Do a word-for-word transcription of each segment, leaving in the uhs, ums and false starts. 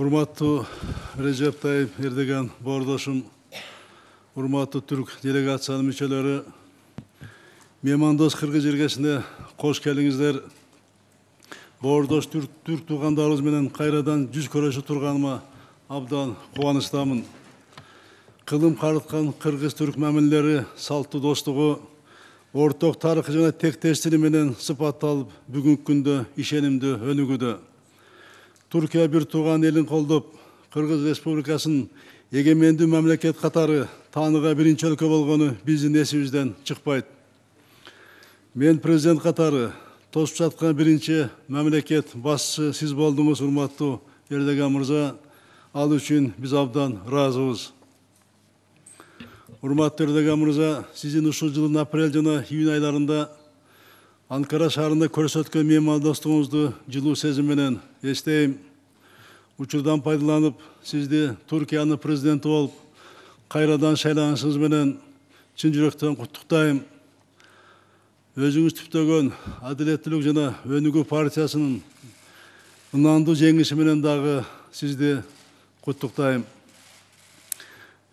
Урматтуу Режеп Тайип Эрдоган боордошум, урматтуу түрк делегациянын мүчөлөрү, меймандос кыргыз жергесине кош келиңиздер. Боордош түрк, түрк туугандарыбыз менен кайрадан жүз көрүшүп турганыма абдан кубанычтамын. Кылым карыткан кыргыз-түрк мамилелери, салттуу достугу, орток тарыхы жана тектештиги менен сыпатталып, бүгүнкү күндө ишенимдүү өнүгүүдө. Түркия бир тууган элин колдоп, Кыргыз Республикасын эгемендүү мамлекет катары тааныга биринчи өлкө болгону биздин эсибизден чыкпайт. Мен президент катары тосуп жаткан биринчи мамлекет башчысы сиз болдуңуз, урматтуу Эрдоган мырза. Ал үчүн биз абдан ыраазыбыз. Урматтуу Эрдоган мырза, сиздин ушул жылдын апрель жана июнь айларында Анкара шаарында көрсөткөн меймандостугуңузду жылуу сезим менен эстейм. Учурдан пайдаланып, сизди Түркиянын президенти болуп, кайрадан шайланышыңыз менен чын жүрөктөн куттуктайм. Өзүңүз түптөгөн Адилеттүүлүк жана Өнүгүү партиясынын ынандуу жеңиши менен дагы сизди куттуктайм.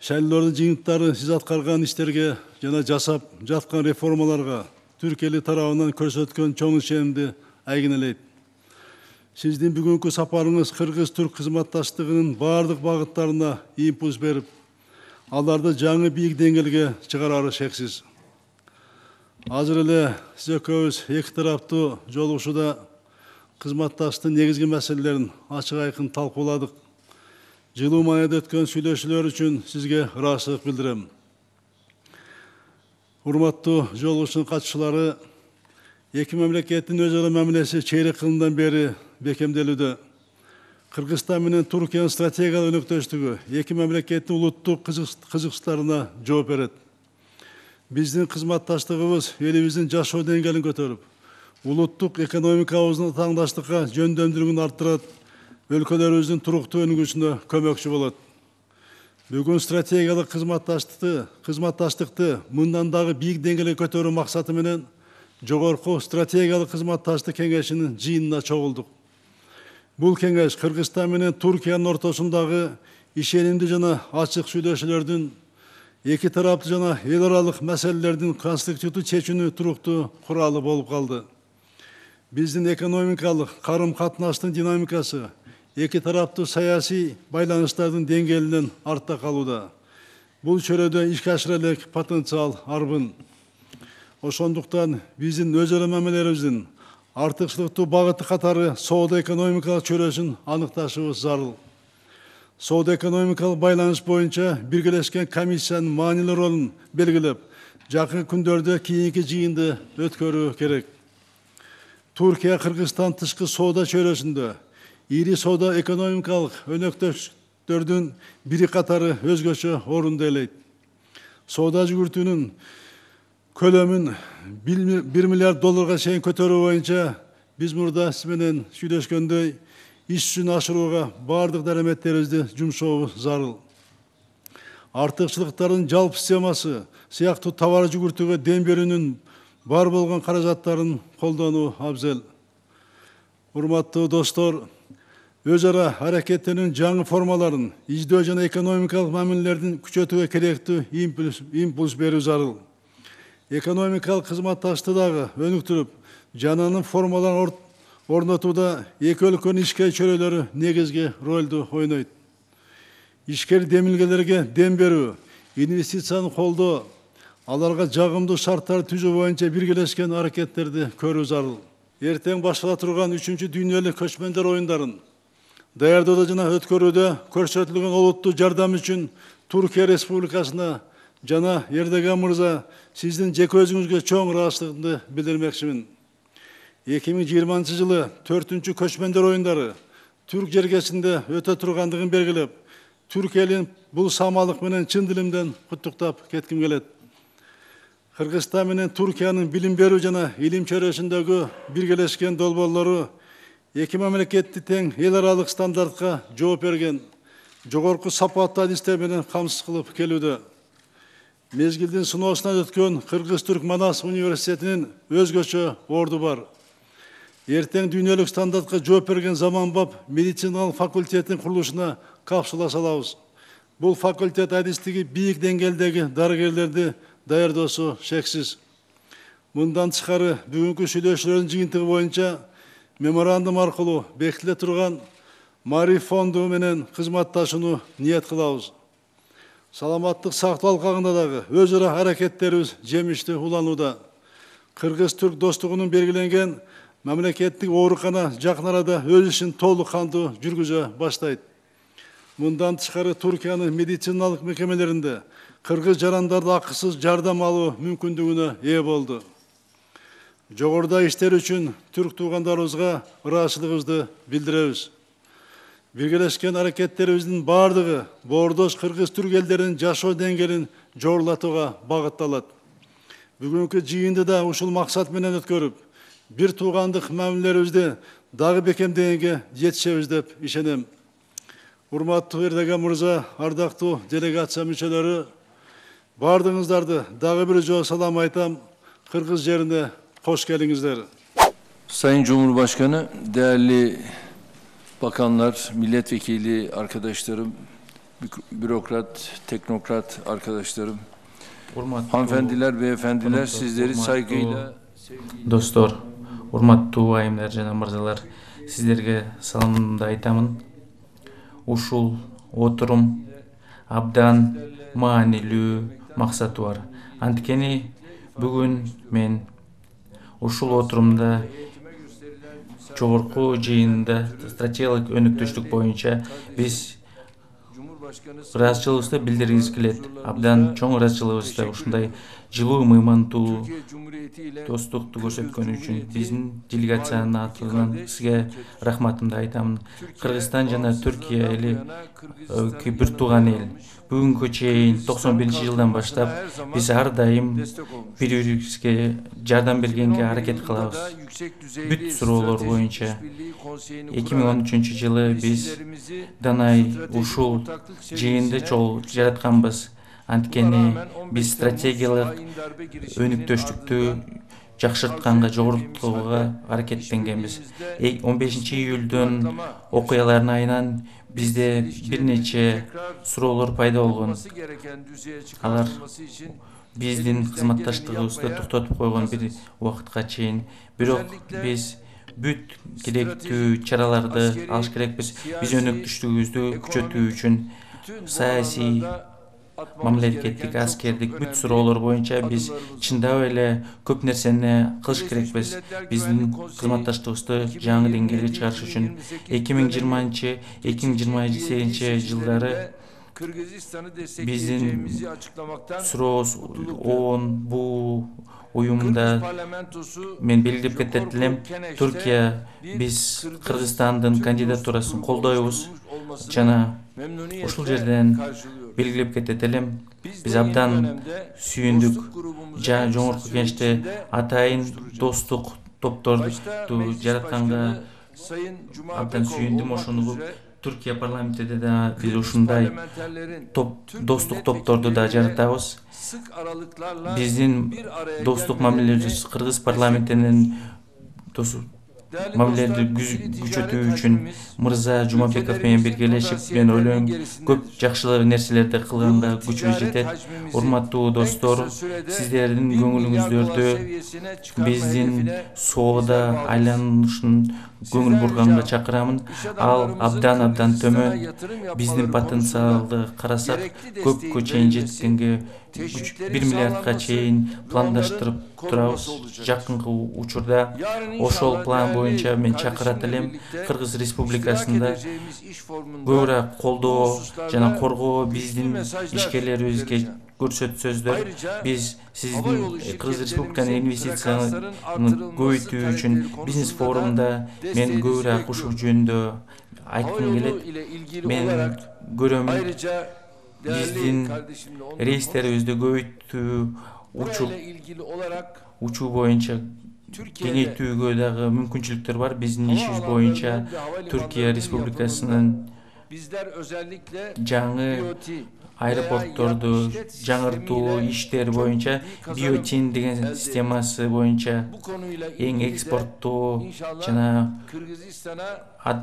Шайлоодун жыйынтыктары сиз аткарган иштерге жана жасап жаткан реформаларга түрк эли тарабынан көрсөткөн чоң ишенимди айгинелейт. Сиздин бүгүнкү сапарыңыз кыргыз-түрк кызматташтыгынын бардык багыттарына импульс берип, аларды жаңы бийик деңгээлге чыгарары шексиз. Азыр эле сиз экөөбүз эки тараптуу жолугушууда кызматташтыктын негизги маселелерин ачык айкын талкууладык. Жылуу маанайда өткөн сүйлөшүүлөр үчүн сизге ыраазычылык билдирем. Урматтуу жолугушуунун катышуулары, эки мамлекеттин өз ара мамилеси чейрек кылымдан бери бекемделүүдө. Кыргызстан менен Түркиянын стратегиялык өнөктөштүгү эки мамлекеттин улуттук кызыкчылыктарына жооп берет. Биздин кызматташтыгыбыз элибиздин жашоо деңгээлин көтөрүп, улуттук экономикабыздын таңдаштыкка жөндөмдүүлүгүн арттырат, өлкөлөрүбүздүн туруктуу өнүгүүсүнө көмөкчү болот. Бүгүн стратегиялык кызматташтыкты, кызматташтыкты мындан дагы бийик деңгээлге көтөрүү максаты менен жогорку стратегиялык кызматташтык кеңешинин жыйынына чогулдук. Бул кеңеш Кыргызстан менен Түркиянын ортосундагы ишенимдүү жана ачык сүйлөшүүлөрдүн, эки тараптуу жана эл аралык маселелердин конструктивдүү чечүүнү туруктуу куралы болуп калды. Биздин экономикалык карым-катнаштын динамикасы эки тараптуу саясий байланыштардын деңгээлинен артта калууда. Бул чөйрөдө ишке ашыра элек потенциал арбын. Ошондуктан биздин өз ара мамилелерибиздин артыкчылыктуу багыты катары соода-экономикалык чөйрөсүн аныкташыбыз зарыл. Соода-экономикалык байланыш боюнча биргелешкен комиссиянын маанилүү ролун белгилеп, жакын күндөрдө кийинки жыйынды өткөрүү керек. Түркия Кыргызстан тышкы соода чөйрөсүндө ири соода экономикалык өнөктөштөрдүн бири катары өзгөчө орунду ээлейт. Соода жүгүртүүнүн көлөмүн бир миллиард долларга чейин көтөрүү боюнча биз мурда сиз менен сүйлөшкөндөй иш жүзүнө ашырууга бардык дараметтерибизди жумшообуз зарыл. Артыкчылыктардын жалпы системасы сыяктуу товар жүгүртүүгө дем берүүнүн бар болгон каражаттарын колдонуу абзел. Урматтуу достор, өз ара аракеттенүүнүн жаңы формаларын издөө жана экономикалык мамилелердин күчөтүүгө керектүү импульс берүү зарыл. Экономикалык кызматташтыкты дагы өнүктүрүп, жаңанын формаларын орнотууда эки өлкөнүн ишкер чөйрөлөрү негизги ролду ойнойт. Ишкер демилгелерге дем берүү, инвестицияны колдоо, аларга жагымдуу шарттар түзүү боюнча биргелешкен аракеттерди көрүү зарыл. Эртең баштала турган үчүнчү дүйнөлүк көчмөндөр оюндарын даярдоодо жана өткөрүүдө көрсөтүлгөн олуттуу жардам үчүн Түркия Республикасына жана Эрдоган мырза сиздин жеке өзүңүзгө чоң ыраазычылыгымды билдирмекчимин. эки миң жыйырманчы жылы төртүнчү көчмөндөр оюндары түрк жергесинде өтө тургандыгын белгилеп, түрк элин бул самалык менен чын дилимден куттуктап кетким келет. Кыргызстан менен Түркиянын билим берүү жана илим чөйрөсүндөгү биргелешкен долбоорлору эки мамлекетти тең эл аралык стандартка жооп берген, жогорку сапаттуу адистер менен камсыз кылып келүүдө. Мезгилдин сыноосунан өткөн Кыргыз-Түрк Манас университетинин өзгөчө орду бар. эртең дүйнөлүк стандартка жооп берген заманбап медициналык факультеттин курулушуна капсула салабыз. Бул факультет адистиги бийик деңгээлдеги дарыгерлерди даярдоосу шексиз. Мындан тышкары бүгүнкү сүйлөшүүлөрдүн жыйынтыгы боюнча меморандум аркылуу бекитиле турган Маариф фонду менен кызматташууну ниет кылабыз. Саламаттык сактоо алкагында дагы өз ара аракеттерибиз жемиштүү уланууда. Кыргыз-түрк достугунун белгиленген мамлекеттик оорукана жакын арада өз ишин толук кандуу жүргүзө баштайт. Мындан тышкары Туркиянын медициналык мекемелеринде кыргыз жарандарды акысыз жардам алуу мүмкүндүгүнө ээ болду. Жогоруда иштер үчүн түрк туугандарыбызга ыраазычылыгыбызды билдиребиз. Биргелешкен аракеттерибиздин бардыгы боордош кыргыз-түрк элдеринин жашоо деңгээлин жогорулатууга багытталат. Бүгүнкү жыйынды да ушул максат менен өткөрүп, бир туугандык мамилелерибизди дагы бекемдегенге жетишебиз деп ишенем. Урматтуу Эрдоган мырза, ардактуу делегация мүчөлөрү, бардыгыңыздарды дагы бир жолу салам айтам. Кыргыз жерине кош келиңиздер. Sayın Cumhurbaşkanı, değerli bakanlar, milletvekili arkadaşlarım, bürokrat, teknokrat arkadaşlarım, hanımefendiler, beyefendiler, sizleri saygıyla... Dostlar, урматтуу айымдар жана мырзалар, сиздерге саламымды айтамын. Ушул отурум абдан маанилүү максаты бар. Анткени бүгүн мен ушул отурумда жогорку жыйында стратегиялык өнүктүштүк боюнча биз ыраазычылыгыбызды билдиргибиз келет. Абдан чоң ыраазычылыгыбызды ушундай жылуу мыймандуу достукту көрсөткөн үчүн биздин делегациянын атынан сизге рахматымды айтамын. Кыргызстан жана Түркия эли бир тууган эл. Бүгүнгө чейин токсон биринчи жылдан баштап биз ар дайым бири бирибизге жардам бергенге аракет кылабыз. Бүт суроолор боюнча эки миң он үчүнчү жылы биз Данай ушул жыйынды чогуу жаратканбыз. Анткени биз стратегиялык өнүктүштүктү жакшыртканга, жогорултууга аракеттенгенбиз. он бешинчи июлдун окуяларынын айынан бизде бир нече суроолор пайда болгон. Алар биздин кызматташтыгыбызды токтотуп койгон бир убакытка чейин. Бирок биз бүт керектүү чараларды алыш керекпиз. Биз өнүктүштүгүбүздү күчөтүү үчүн саясий, мамлекеттик, аскердик бүт суроолор боюнча биз чындап эле көп нерсени кылыш керекпиз. Биздин кызматташтыгыбызды жаңы деңгээлге чыгарыш үчүн эки миң жыйырманчы эки миң жыйырма сегизинчи жылдары биздин сурообуз ООН бул уюмда мен белгилеп кетет элем. Түркия биз Кыргызстандын кандидатурасын колдойбуз жана ушул жерден белгилеп кетет элем. Биз абдан сүйүндүк. Жогорку кеңеште атайын достук топторду жаратканга абдан сүйүндүм. Ошону Түркия парламентинде да биз ушундай достук топторду да жаратабыз. Биздин достук мамилелерибиз Кыргыз парламентинин мамилелерди күчөтүү үчүн мырза Жумабеков менен биргелешип, мен ойлойм, көп жакшы нерселерди кылганга күчүбүз жетет. Урматтуу достор, сиздердин көңүлүңүздөрдү биздин соода айланышын көңүл бурганга чакырамын. Ал абдан абдан төмөн. Биздин потенциалды карасак, көпкө чейин жеткенге бир миллиардка чейин пландаштырып турабыз. Жакынкы учурда ошол план боюнча мен чакырат элем. Кыргыз Республикасында көбүрөөк колдоо жана коргоо биздин ишкерлерибизге көрсөтсөздөр. Биз сиздин Кыргыз Республиканын инвестицияны көбөйтүү үчүн бизнес форумда мен көбүрөөк ушул жөнүндө айткым келет. Мен көрөм, биздин рейстерибизди көбөйтүү, учуу учуу боюнча кеңейтүүгө дагы мүмкүнчүлүктөр бар. Биздин ишибиз боюнча Түркия Республикасынын жаңы аэропортторду жаңыртуу иштер боюнча биотин деген системасы боюнча эң экспорттуу жана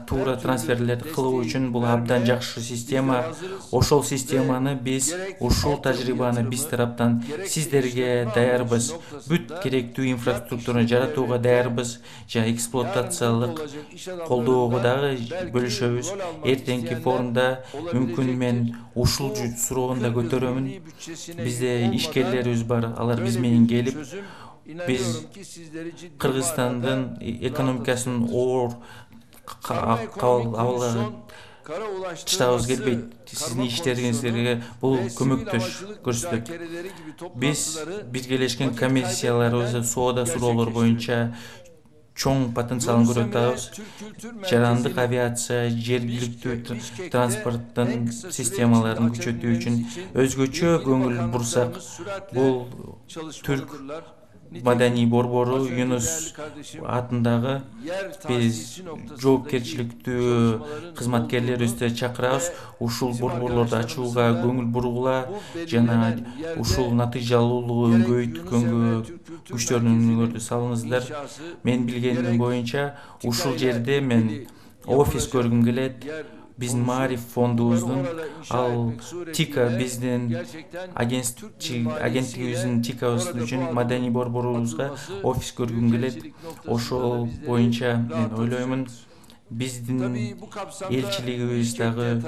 туура трансферлерди кылуу үчүн бул абдан жакшы система. Ошол системаны биз, ушул тажрыйбаны биз тараптан сиздерге даярбыз. Бүт керектүү инфраструктураны жаратууга даярбыз жана эксплуатациялык колдоого дагы бөлүшөбүз. Эртеңки форумда мүмкүн мен ушул суроону да көтөрөмүн. Бизде ишкерлерибиз бар, алар биз менен келип, биз Кыргызстандын экономикасынын оор абалга чыдабыз келбейт. Сиздин иштериңиздерге бул көмөктөш көрсөтөт. Биз биргелешкен комиссияларыбыз соода суроолор боюнча чоң потенциалын көрүп атабыз. Жарандык авиация, жергиликтүү транспорттун системаларын күчөтүү үчүн өзгөчө көңүл бурсак, бул Түрк маданий борбору Юнус атындагы биз жоопкерчиликтүү кызматкерлерибизди чакырабыз. Ушул борборлорду ачууга көңүл бургула жана ушул натыйжалуулугун көбөйткөнгө күчтөрүңөрдү салыңыздар. Мен билгеним боюнча ушул жерде мен офис көргүм келет. Биздин Маариф фондубуздун, ал ТИКа биздин агенттигибиздин ТИКабыз үчүн маданий борборубузга офис көргүм келет. Ошол боюнча мен ойлоймун, биздин элчилигибиз дагы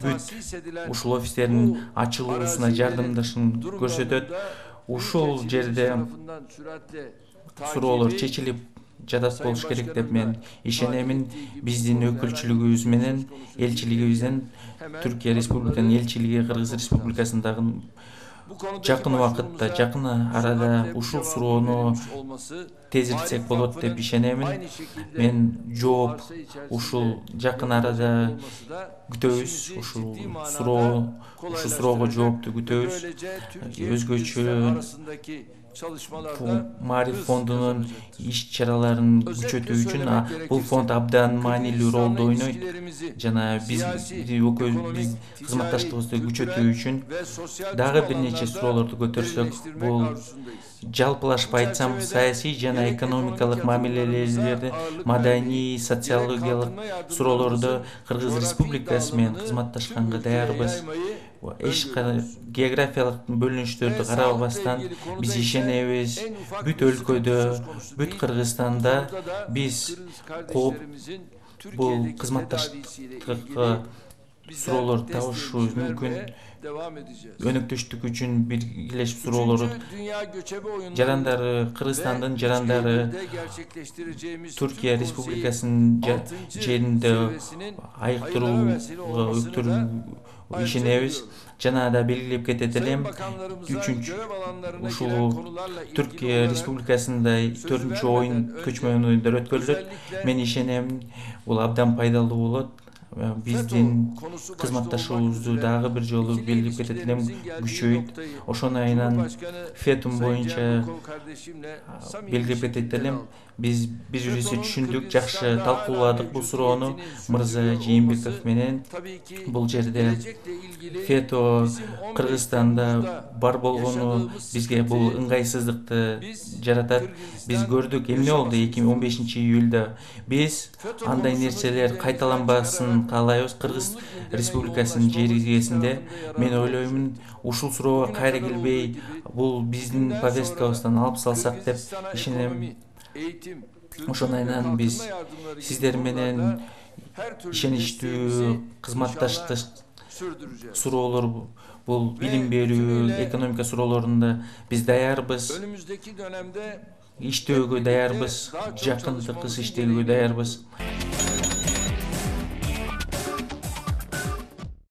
бүт ушул офистердин ачылуусуна жардамдашын көрсөтөт. Ушул жерде суроолор чечилип жатат болуш керек деп мен ишенемин. Биздин өкүлчүлүгүбүз менен элчилигибизден, Түркия Республиканын элчилиги Кыргыз Республикасындагы жакын убакытта, жакын арада ушул суроону тезиртсек болот деп ишенемин. Мен жооп ушул жакын арада күтөбүз. Ушул суроо, ушул суроого жоопту күтөбүз. Өзгөчө Маариф фондунун иш-чараларын күчөтүү үчүн бул фонд абдан маанилүү ролду ойнойт жана биз биз кызматташтыгыбызды күчөтүү үчүн дагы бир нече суроолорду көтөрсөк, бул жалпылашып айтсам, саясий жана экономикалык мамилелерди, маданий, социологиялык суроолорду Кыргыз Республикасы менен кызматташканга даярбыз. Эч кандай географиялык бөлүнүштөрдү карабастан биз ишенебиз, бүт өлкөдө, бүт Кыргызстанда биз кооп бул кызматташтыкка суроолорду табышыбыз мүмкүн. Өнөктөштүк үчүн биргелешип суроолорду жарандары, Кыргызстандын жарандары Түркия Республикасынын жеринде айыктырууга өктүрүүгө ишенебиз. Жана да белгилеп кетет элем, үчүнчү ушул Түркия Республикасында төртүнчү оюн көчмөн оюндар өткөрүлөт. Мен ишенем, бул абдан пайдалуу болот. Биздин кызматташуубузду дагы бир жолу белгилеп кетет элем, күчөйт. Ошону айынан Фетум боюнча белгилеп кетет элем. Биз биз бирибизди түшүндүк, жакшы талкууладык бул суроону мырза Жээнбеков менен. Бул жерде Фето Кыргызстанда бар болгону бизге бул ыңгайсыздыкты жаратат. Биз көрдүк эмне болду эки миң он бешинчи июлда. Биз андай нерселер кайталанбасын каалайбыз Кыргыз Республикасынын жеригесинде. Мен ойлоймун, ушул суроого кайра келбей, бул биздин повесткабыздан алып салсак деп ишенем. Ошону айынан биз сиздер менен ишеничтүү кызматташтык суроолор, бул билим берүү, экономика суроолорунда биз даярбыз. Иштөөгө даярбыз, жакындыксыз иштөөгө даярбыз.